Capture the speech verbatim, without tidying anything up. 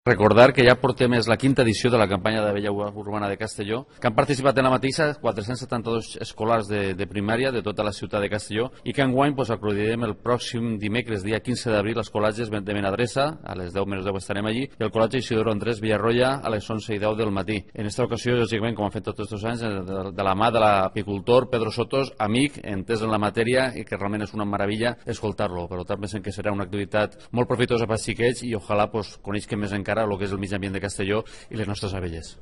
Recordar que ja portem és la quinta edició de la campanya d'Abella Urbana de Castelló, que han participat en la mateixa quatre-cents setanta-dos escolars de, de primària de tota la ciutat de Castelló i que enguany pues, acudirem el pròxim dimecres, dia quinze d'abril, als col·legis de Benadressa, a les deu menys deu estarem allí, i el col·legi Isidoro Andrés Villarroya a les onze i deu del matí. En aquesta ocasió, lògicament, com han fet tots aquests anys, de, de la mà de l'apicultor Pedro Sotos, amic, entès en la matèria i que realment és una meravella escoltar-lo. Per tant, pensem que serà una activitat molt profitosa per als xiquets i ojalà pues, coneixin més encara el que és el mig ambient de Castelló i les nostres abelles.